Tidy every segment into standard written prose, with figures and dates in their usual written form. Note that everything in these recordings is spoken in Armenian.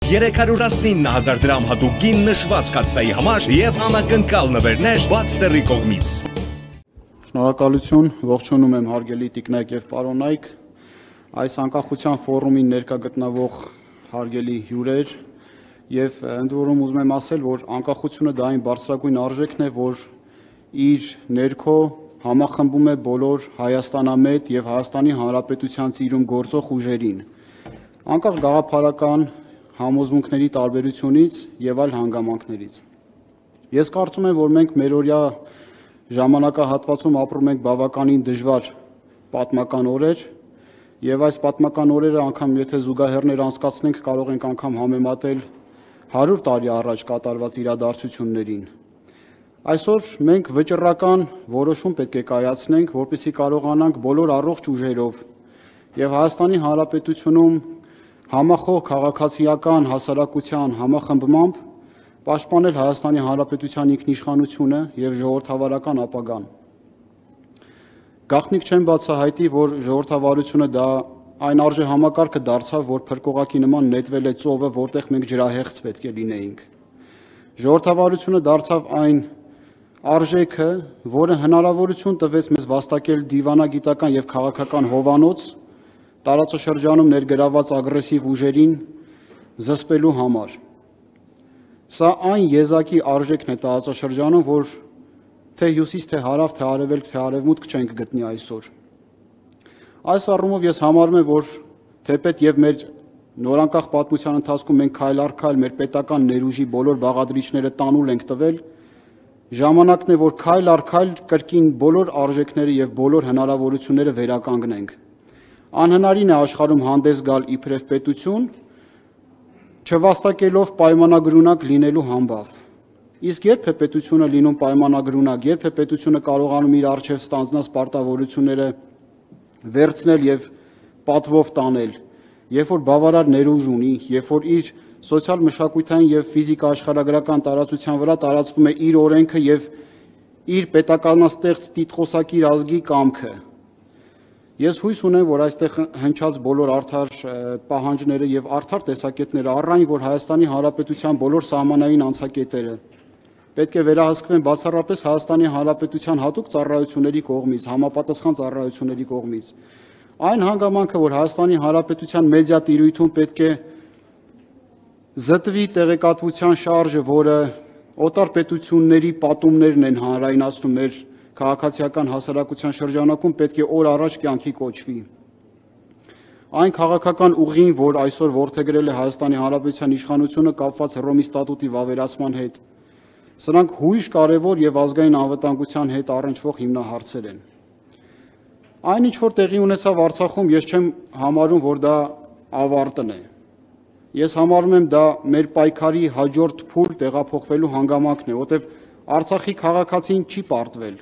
319,000 դրամ հատուկ գին նշված կաթսայի համար եւ անակնկալ նվերներ Baxter-ի կողմից։ Շնորհակալություն, ողջունում եմ հարգելի տիկնայք եւ պարոնայք, այս անկախության ֆորումին ներկա գտնվող հարգելի հյուրեր եւ ընդ որում ուզում եմ ասել, որ անկախությունը դա այն բարձրագույն արժեքն է, որ իր ներքո համախմբում է բոլոր Հայաստանամետ եւ Հայաստանի Հանրապետության ծիրում գործող ուժերին, անկախ գաղափարական համոզմունքների տարբերությունից եւ այլ հանգամանքներից։ Ես կարծում եմ, որ մենք մերօրյա ժամանակահատվածում ապրում ենք բավականին դժվար պատմական օրեր եւ այս պատմական օրերը անգամ եթե զուգահեռներ անցկացնենք կարող ենք անգամ համեմատել 100 տարի առաջ կատարված իրադարձություններին։ Այսօր մենք վճռական որոշում պետք է կայացնենք, որպեսզի կարողանանք բոլոր առողջ ուժերով եւ Հայաստանի Հանրապետությունում համախոհ քաղաքացիական հասարակության համախմբմամբ պաշտպանել Հայաստանի Հանրապետության ինքնիշխանությունը եւ ժողովրդավարական ապագան։ Գաղտնիք չեմ բացահայտի, որ ժողովրդավարությունը դա այն արժե համակարգը դարձավ, որ փրկողակի նման նետվել է ծովը, որտեղ մենք ջրահեղձ պետք է լինեինք։ Ժողովրդավարությունը դարձավ այն արժեքը, որը հնարավորություն տվեց մեզ վաստակել դիվանագիտական եւ քաղաքական հովանոց տարածաշրջանում ներգրաված ագրեսիվ ուժերին զսպելու համար։ Սա այն եզակի արժեքն է տարածաշրջանում, որ թե հյուսիս, թե հարավ, թե արևելք, թե արևմուտք չենք գտնի այսօր։ Այս առումով ես համարում եմ, որ թեպետ եւ մեր նորանկախ պատմության ընթացքում մենք քայլ առ քայլ մեր պետական ներուժի բոլոր բաղադրիչները տանուլ ենք տվել, ժամանակն է, որ քայլ առ քայլ կրկին բոլոր արժեքները եւ բոլոր հնարավորությունները վերականգնենք։ Անհնարին է աշխարհում հանդես գալ իբրև պետություն, չվաստակելով պայմանագրունակ լինելու համբավ։ Իսկ երբ է պետությունը լինում պայմանագրունակ, երբ է պետությունը կարողանում իր առջև ստանձնած պարտավորությունները վերցնել եւ պատվով տանել, երբ որ բավարար ներուժ ունի, երբ որ իր սոցիալ-մշակութային եւ ֆիզիկա աշխարհագրական տարածության վրա տարածվում է իր օրենքը եւ իր պետականաստեղծ տիտղոսակիր ազգի կամքը։ Ես հույս ունեմ, որ այստեղ հնչած բոլոր արդար պահանջները եւ արդար տեսակետները առայն, որ Հայաստանի Հանրապետության բոլոր սահմանային անցակետերը պետք է վերահսկվեն բացառապես Հայաստանի Հանրապետության հատուկ ծառայությունների կողմից, համապատասխան ծառայությունների կողմից։ Այն հանգամանքը, որ Հայաստանի Հանրապետության մեդիա տիրույթում պետք է զտվի տեղեկատվության շարժը, որը օտար պետությունների պատումներն են հանրայնացնում մեր քաղաքացիական հասարակության շրջանակում, պետք է օր առաջ կյանքի կոչվի։ Այն քաղաքական ուղին, որ այսօր որդեգրել է Հայաստանի Հանրապետության իշխանությունը կապված Հռոմի ստատուտի վավերացման հետ, սրանք հույժ կարևոր եւ ազգային անվտանգության հետ առնչվող հիմնահարցեր են։ Այն ինչ որ տեղի ունեցավ Արցախում, ես չեմ համարում, որ դա ավարտն է։ Ես համարում եմ դա մեր պայքարի հաջորդ փուլ տեղափոխվելու հանգամանքն է, որտեղ Արցախի քաղաքացին չի պարտվել։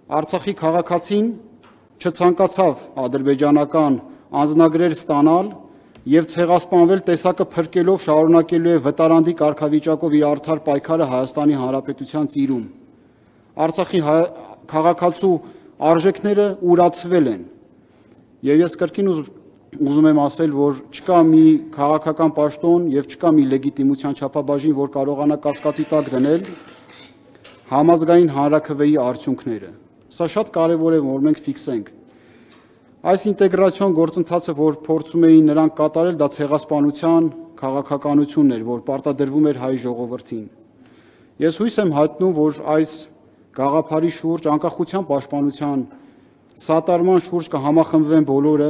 Արցախի քաղաքացին չցանկացավ ադրբեջանական անձնագրեր ստանալ եւ ցեղասպանվել տեսակը փրկելով շարունակելու է վտարանդի կարգավիճակով իր արդար պայքարը Հայաստանի Հանրապետության ծիրում։ Արցախի քաղաքացու արժեքները ուրացվել են։ Եվ ես կրկին ուզում եմ ասել, որ չկա մի քաղաքական պաշտոն եւ չկա մի լեգիտիմության չափաբաժին, որ կարողանա կասկածի տակ դնել համազգային հանրաքվեի արդյունքները։ Սա շատ կարևոր է, որ մենք ֆիքսենք։ Այս ինտեգրացիոն գործընթացը, որ փորձում էին նրանք կատարել, դա ցեղասպանության քաղաքականությունն էր, որ պարտադրվում էր հայ ժողովրդին։ Ես հույս եմ հայտնում, որ այս գաղափարի շուրջ, անկախության պաշտպանության սատարման շուրջ կհամախմբվեն բոլորը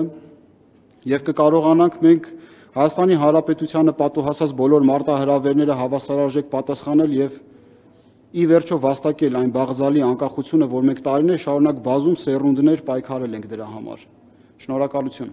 եւ կկարողանանք մենք Հայաստանի Հանրապետությանը պատուհասած բոլոր մարտահրավերները հավասարարժեք պատասխանել եւ ի վերջո վաստակել այն բաղձալի անկախությունը, որ մենք տարիներ շարունակ բազում սերունդներ պայքարել ենք դրա համար։ Շնորհակալություն։